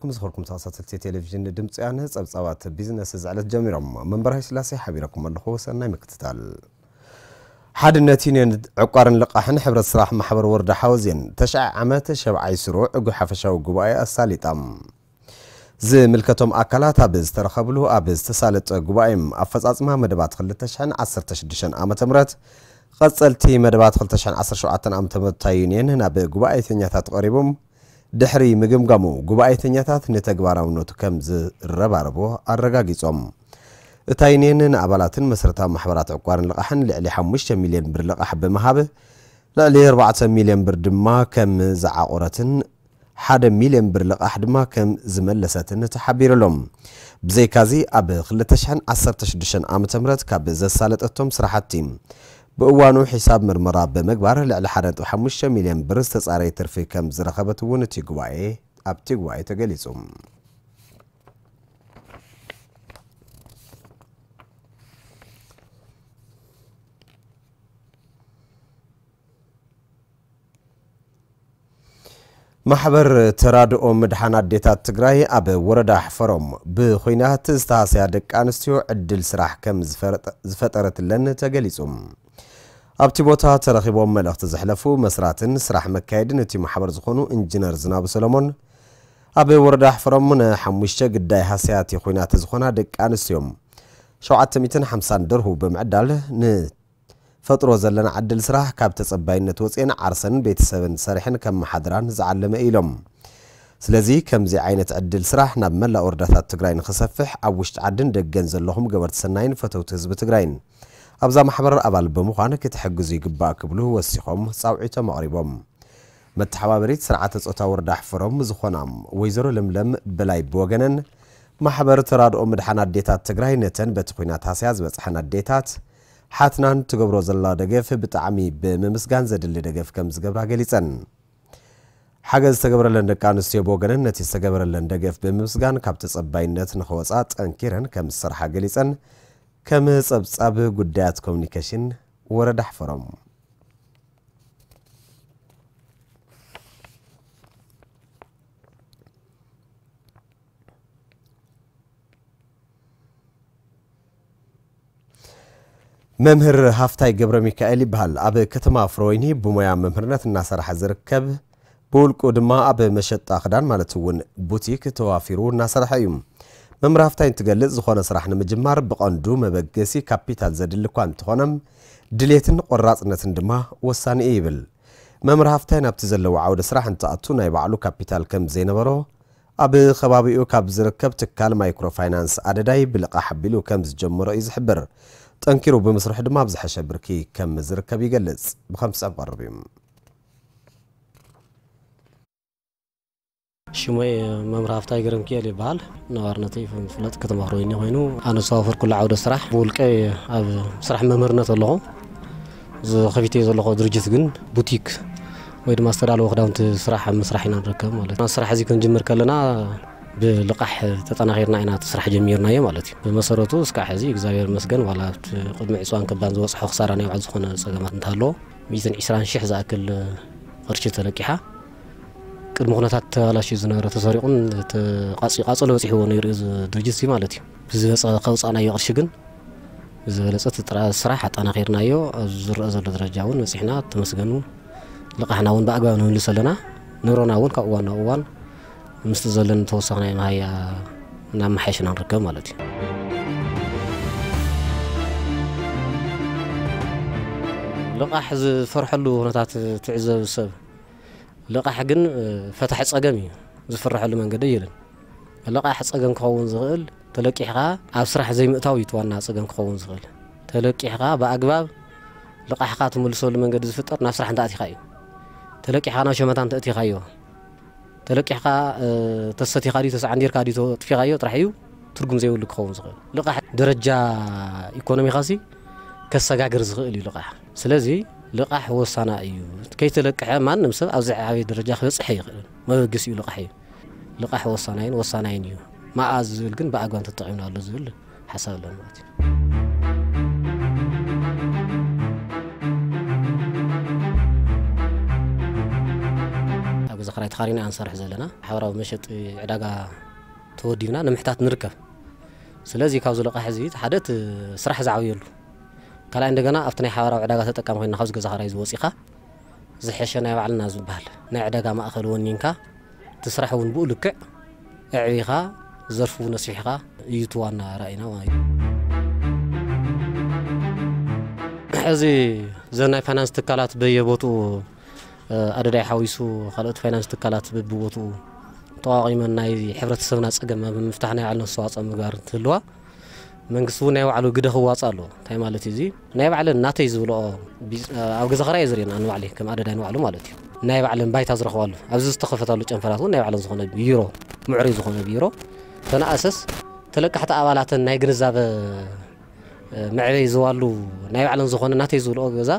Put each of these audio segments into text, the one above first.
ከም ዝኸርኩም ተኸታተልቲ ቴሌቪዥን ድምፂ ወያነ፣ ጸብጻባት ቢዝነስ እዚ ዕለት ጀሚሮም። መንበርሃይ ስላሴ ሓቢረኩም ኣለኹ። ሰናይ ምክትታል። ሓድነት ዩኒየን ዕቋርን ልቓሕን ሕብረት ስራሕ ማሕበር ወረዳ ሓወዜን ተሽዓ ዓመት ሸብዓይ ስሩዕ እጉ ሓፈሻዊ ጉባኤ ኣሳሊጣ። ዝምልከቶም ኣካላት ኣብ ዝተረኸብሉ ኣብ ዝተሳለጠ ጉባኤም ኣፈጻጽማ መደባት ክልተ ሽሕን ዓሰርተ ሽዱሽተን ዓመተ ምህረት፣ ቀጸልቲ መደባት ክልተ ሽሕን ዓሰርተ ሸውዓተን ዓመተ ምህረት እታ ዩኒየን ናብ ጉባኤተኛታት ቀሪቦም ድሕሪ ምግምጋሙ ጉባኤተኛታት ንተግባራውነቱ ከም ዝረባረቦ ኣረጋጊጾም። እታ ዩኒየን ንኣባላትን መሰረታዊ ማሕበራት ዕቋርን ልቓሕን ልዕሊ ሓሙሽተ ሚልዮን ብር ልቓሕ ብምሃብ ልዕሊ ኣርባዕተ ሚልዮን ብር ድማ ከም ዝዓቆረትን ሓደ ሚልዮን ብር ልቓሕ ድማ ከም ዝመለሰትን ተሓቢሩሎም። ብዘይካዚ ኣብ ክልተ ሽሕን ዓሰርተ ሽዱሽተን ዓመተ ምህረት ካብ ዘሳለጠቶም ስራሕቲ ብእዋኑ ሒሳብ ምርመራ ብምግባር ልዕሊ ሓደ ነጥቢ ሓሙሽተ ሚልዮን ብር ዝተጻረየ ትርፊ ከም ዝረኸበት እውን እቲ ጉባኤ ኣብቲ ጉባኤ ተገሊጹ። ማሕበር ተራድኦ ምድሓን ኣዴታት ትግራይ ኣብ ወረዳ ሕፈሮም ብኹናት ዝተሃስያ ደቂ ኣንስትዮ ዕድል ስራሕ ከም ዝፈረጠ-፣ ዝፈጠረትለን ተገሊጹ። ኣብቲ ቦታ ተረኺቦም መልእኽቲ ዘሕለፉ መስራትን ስራሕ መካየድን እቲ ማሕበር ዝኾኑ ኢንጂነር ዝናቡ ሰሎሞን፣ ኣብ ወረዳ ሕፈሮም ንሓሙሽተ ግዳይ ሃስያቲ ኹናት ዝኾና ደቂ ኣንስትዮ ሸውዓተ ሚእትን ሓምሳን ደርሁ ብምዕዳል ን ፈጥሮ ዘለና ዕድል ስራሕ ካብ ተጸባይነት ወጽኤን ዓርሰን ቤተሰብን ሰሪሐን ከመሓድራን ዝዓለመ እዩ ኢሎም። ስለዚ ከምዚ ዓይነት ዕድል ስራሕ ናብ መላእ ወረዳታት ትግራይ ንኽሰፍሕ ኣብ ውሽጢ ዓድን ደገን ዘለኹም ገበርቲ ሰናይን ፈተውቲ ህዝቢ ትግራይን ኣብዛ ማሕበር ኣባል ብምዃን ክትሕግዙ ይግባእ ክብሉ ወሲኾም ጻውዒቶም ኣቕሪቦም። መተሓባበሪት ስርዓተ ጾታ ወረዳ ሕፈሮም ዝኾና ወይዘሮ ለምለም በላይ ብወገነን፣ ማሕበር ተራድኦ ምድሓን ኣዴታት ትግራይ ነተን በቲ ኲናት ሃስያ ዝበጽሐን ኣዴታት ሓትናን ትገብሮ ዘላ ደገፍ ብጣዕሚ ብምምስጋን ዘድሊ ደገፍ ከም ዝገብራ ገሊጸን። ሓገዝ ዝተገበረለን ደቂ ኣንስትዮ ብወገነን ነቲ ዝተገበረለን ደገፍ ብምምስጋን ካብ ተጸባይነት ንኽወጻ ጠንኪረን ከም ዝሰርሓ ገሊጸን። ከም ጸብጻብ ጉዳያት ኮሚኒኬሽን ወረዳ ሕፈሮም። መምህር ሃፍታይ ገብረ ሚካኤል ይበሃል። ኣብ ከተማ ፍረወይኒ ብሞያ መምህርነት እናሰርሐ ዝርከብ፣ ብውልቁ ድማ ኣብ መሸጣ ክዳን ማለት እውን ቡቲክ ተዋፊሩ እናሰርሐ እዩ። መምህር ሃፍታይ እንትገልጽ፣ ዝኾነ ስራሕ ንምጅማር ብቐንዱ መበገሲ ካፒታል ዘድሊ እኳ እንተኾነ፣ ድሌትን ቆራጽነትን ድማ ወሳኒ እዩ ይብል። መምህር ሃፍታይ ናብቲ ዘለዎ ዓውደ ስራሕ እንትኣቱ ናይ ባዕሉ ካፒታል ከም ዘይነበሮ፣ ኣብ ከባቢኡ ካብ ዝርከብ ትካል ማይክሮ ፋይናንስ ኣደዳይ ብልቓሕ ኣቢሉ ከም ዝጀመሮ እዩ ዝሕብር። ጠንኪሩ ብምስርሑ ድማ ኣብ ዝሐሸ ብርኪ ከም ዝርከብ ይገልጽ። ብኸምቲ ጸብ ቀርብ እዩ። ሽመይ መምህር ሃፍታይ ገረምኪኤል ይበሃል። ነባርነተይ ፍለጥ ከተማ ፍረወይኒ ኮይኑ፣ ኣነ ዝተዋፈርኩሉ ዓውደ ስራሕ ብውልቀይ ኣብ ስራሕ መምህርነት ኣለኹ። ዝኸፊተዮ ዘለኹ ድርጅት ግን ቡቲክ ወይ ድማ ዝተዳለወ ክዳውንቲ ስራሕ ኣብ ምስራሕ ኢና ንርከብ ማለት እዩ። ስራሕ እዚ ክንጅምር ከለና ብልቓሕ ተጠናኺርና ኢና እቲ ስራሕ ጀሚርናዮ ማለት እዩ። ብመሰረቱ እስካዕ ሕዚ እግዚኣብሔር ይመስገን፣ ዋላ ኣብቲ ቅድሚ ዕፅዋን ከባን ዝበፅሖ ክሳራ ናይ ባዕሉ ዝኾነ ፀገማት እንተሃለዎ፣ ሚእትን ዕስራን ሽሕ ዝኣክል ቅርሺ ተለቂሓ፣ ቅድሚ ኩነታት ተባላሽዩ ዝነበረ ተሰሪቑን ተ-፣ ቃፂ-፣ ቃፀሎ በፂሕዎ ነይሩ እዚ ድርጅት እዚ ማለት እዩ። ብዝበፀ ከውፃእናዮ ቅርሺ ግን ብዝበለፀ እቲ ጥራ-፣ ስራሕ ኣጠናኺርናዮ ኣብዚ ዝረአ ዘሎ ደረጃ እውን በፂሕና፣ ተመስገኑ። ልቓሕና እውን ብኣግባብ ንምልስ ኣለና። ንብረና እውን ካብ እዋን ናብ እዋን ምስቲ ዘለኒ ተወሳኺ ናይ መሃያ እናመሓየሽና ንርከብ ማለት እዩ። ልቓሕ ዝፈርሐሉ ኩነታት ትዕዘብ ሰብ፣ ልቓሕ ግን፣ እ፣ ፈታሒ ጸገም እዩ። ዝፍርሐሉ መንገዲ የለን። ልቓሕ ጸገም ክኸውን ዝኽእል፣ ተለቂሕኻ ኣብ ስራሕ ዘይምእታው እዩ እቲ ዋና ጸገም ክኸውን ዝኽእል። ተለቂሕኻ ብኣግባብ ልቓሕኻ ትምልሰሉ መንገዲ ዝፍጠር ናብ ስራሕ እንተኣቲኻ እዩ። ተለቂሕኻ ናብ ሸመታ እንተእቲኻዮ፣ ተለቂሕኻ፣ እ፣ ተሰቲኻ ድዩ፣ ተሰዓንዲርካ ድዩ፣ ተጥፊኻዮ ጥራሕ እዩ ትርጉም ዘይብሉ ክኸውን ዝኽእል። ልቓሕ ደረጃ ኢኮኖሚኻሲ ከሰጋግር ዝኽእል እዩ ልቓሕ። ስለዚ ልቓሕ ወሳና እዩ። ከይተለቅሐ ማንም ሰብ ኣብዚ ዓብይ ደረጃ ክበፅሕ ኣይኽእልን። መበገሲኡ ልቓሕ እዩ። ልቓሕ ወሳናይን ወሳናይን እዩ። መኣ ዝብል ግን ብኣግባብ ተጠቒምናሉ ዝብል ሓሳብ ኣለኒ ማለት እዩ። ኣብ ገዛ ክራይ ተኻሪና ኢና ንሰርሕ ዘለና። ሓበራዊ መሸጢ ዕዳጋ ተወዲብና ንምሕታት ንርከብ። ስለዚ ካብዚ ልቓሕ እዚ ሓደ እቲ ስራሕ ዝዓብየሉ፣ ካልኣይ እንደገና ኣብቲ ናይ ሓበራዊ ዕዳጋ ተጠቃሚ ኮይንና ካብዚ ገዛ ክራይ እዚ ወፂኻ ዝሐሸ ናይ ባዕልና ዝበሃል ናይ ዕዳጋ ማእኸል ወኒንካ እቲ ስራሕ እውን ብኡ ልክዕ ኣዕቢኻ ዘርፉ እውን ኣስፊሕካ እዩ እቲ ዋና ራእይና ማለት እዩ። ሕዚ ዘን ናይ ፋይናንስ ትካላት በየቦትኡ ኣደዳይ ሓዊሱ ካልኦት ፋይናንስ ትካላት በብቦትኡ ተቋቒመን ናይ ሕብረተሰብና ጸገም ኣብ ምፍታሕ ናይ ባዕለን ኣስተዋጽኦ ምግባር እንትህልዋ መንግስቲ እውን ናይ ባዕሉ ግደ ክዋጽእ ኣለዎ። እንታይ ማለት እዩ እዚ? ናይ ባዕለን ናተይ ዝብልኦ ቢዝ-፣ ኣብ ገዛ ኸራይ እየ ዝርእየን ኣነ ባዕለይ ከም ኣደዳይ ንባዕሉ ማለት እዩ። ናይ ባዕለን ባይታ ዝረኽባሉ ኣብዚ ዝተኸፈታሉ ጨንፈራት እውን ናይ ባዕለን ዝኾነ ቢሮ፣ ምዕሩይ ዝኾነ ቢሮ ተነኣሰስ ተለቃሕቲ ኣባላተን ናይ ግንዛበ መዕበይ ዝዋሉ ናይ ባዕለን ዝኾነ ናተይ ዝብልኦ ገዛ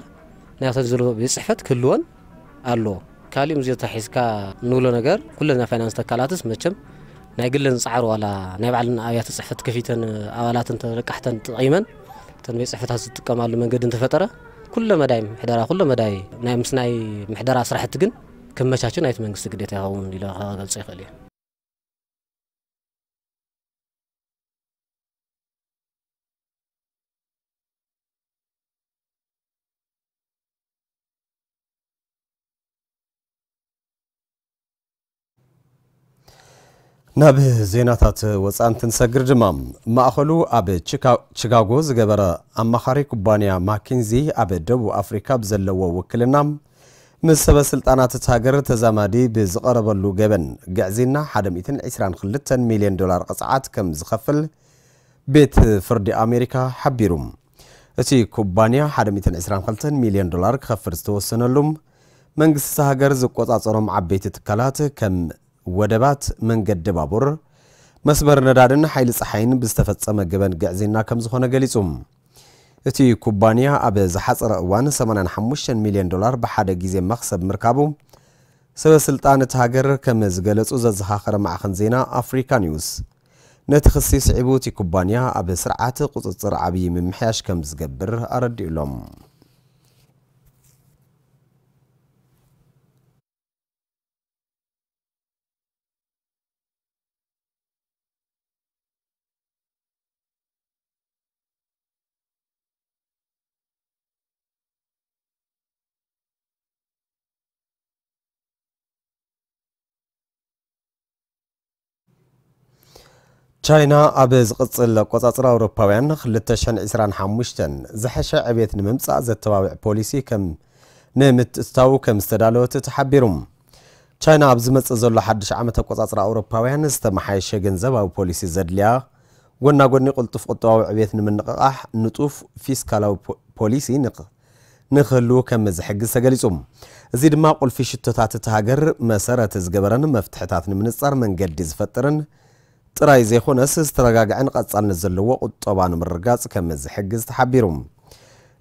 ናይ ናተይ ዝብልኦ ቤት ጽሕፈት ክህልወን ኣለዎ። ካሊእ ምስዚ ተታሒዝካ እንብሎ ነገር ኩለን ናይ ፋይናንስ ተካላትስ መቸም ናይ ግለን ዝጸዓሩ ዋላ ናይ ባዕለን ኣብያተ ጽሕፈት ከፊተን ኣባላትን ተለቃሕተን ተጠቒመን እተን ቤት ጽሕፈታት ዝጥቀማሉ መንገዲ እንተፈጠረ ኩለ መዳይ ምሕደራ፣ ኩለ መዳይ ናይ ምስ ናይ ምሕደራ ስራሕቲ ግን ክመቻቹ ናይቲ መንግስቲ ግዴታ ይኸውን ኢለ ክገልጾ ይኽእል እየ። ናብ ዜናታት ወጻኢ እንትንሰግር ድማ፣ ማእኸሉ ኣብ ቺካ-፣ ቺካጎ ዝገበረ ኣማኻሪ ኩባንያ ማኪንዚ ኣብ ደቡብ ኣፍሪካ ብዘለዎ ውክልና፣ ምስ ሰበ ስልጣናት እታ ሃገር ተዛማዲ ብዝቐረበሉ ገበን ግዕዝይና ሓደ ሚእትን ዕስራን ክልተን ሚልዮን ዶላር ቅፅዓት ከም ዝኸፍል ቤት ፍርዲ ኣሜሪካ ሓቢሩ። እቲ ኩባንያ ሓደ ሚእትን ዕስራን ክልተን ሚልዮን ዶላር ክኸፍል ዝተወሰነሉ፣ መንግስቲ እታ ሃገር ዝቆጻጸሮም ዓበይቲ ትካላት ከም ወደባት፣ መንገዲ ባቡር፣ መስመር ነዳድን ሓይሊ ጸሓይን ብዝተፈጸመ ገበን ግዕዝይና ከም ዝኾነ ገሊጹ። እቲ ኩባንያ ኣብ ዝሓጸረ እዋን ሰማንያን ሓሙሽተን ሚልዮን ዶላር ብሓደ ግዜ መኽሰብ ምርካቡ፣ ሰበ ስልጣን እታ ሃገር ከም ዝገለጹ ዘዘኻኸረ ማዕኸን ዜና ኣፍሪካ ኒውስ፣ ነቲ ክሲ ስዒቡ እቲ ኩባንያ ኣብ ስርዓት ቁጽጽር ዓብዪ ምምሕያሽ ከም ዝገብር ኣረዲኡሎም። ቻይና ኣብ ዝቕጽል ኣቆጻጽራ ኣውሮፓውያን ክልተ ሽሕን ዕስራን ሓሙሽተን ዝሐሸ ዕቤት ንምምጻእ ዘተባብዕ ፖሊሲ ከም ንምትእትታው ከም ዝተዳለወት ተሓቢሩ። ቻይና ኣብ ዝመጽእ ዘሎ ሓድሽ ዓመት ኣቆጻጽራ ኣውሮፓውያን ዝተመሓየሸ ገንዘባዊ ፖሊሲ ዘድልያ፣ ጎና ጎኒ ቅልጡፍ ቁጠባዊ ዕቤት ንምንቕቓሕ ንጡፍ ፊስካላዊ ፖ-፣ ፖሊሲ ንኽ-፣ ንክህሉ ከም ዝሕግዝ ተገሊጹ። እዚ ድማ ቁልፊ ሽቶታት እታ ሃገር መሰረት ዝገበረን መፍትሕታት ንምንጻር መንገዲ ዝፈጥርን ጥራይ ዘይኮነስ፣ ዝተረጋግዐን ቀጻልነት ዘለዎ ቁጠባ ንምርግጋጽ ከም ዝሕግዝ ተሓቢሩ።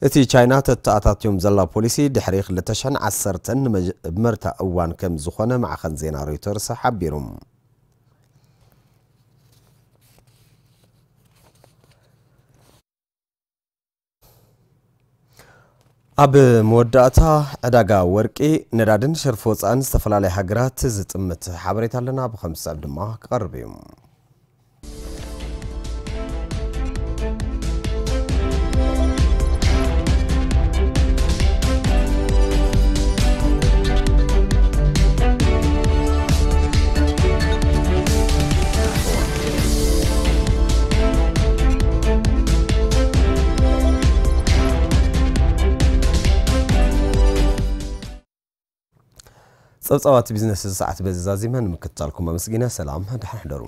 እቲ ቻይና ተተኣታትዮም ዘላ ፖሊሲ ድሕሪ ክልተ ሽሕን ዓሰርተን ንመጀመርታ እዋን ከም ዝኾነ ማዕኸን ዜና ሮይተርስ ሓቢሩ። ኣብ መወዳእታ፣ ዕዳጋ ወርቂ፣ ነዳድን ሸርፊ ወፃእን ዝተፈላለያ ሃገራት ዝጥምት ሓበሬታ ኣለና፣ ብኸም ዝስዕብ ድማ ክቐርብ እዩ። ጸብጻባት ቢዝነስ እዚ ሰዓት በዚ ዛዚመ ንምክትታልኩም ኣመስጊነ። ሰላም፣ ደሓን ሕደሩ።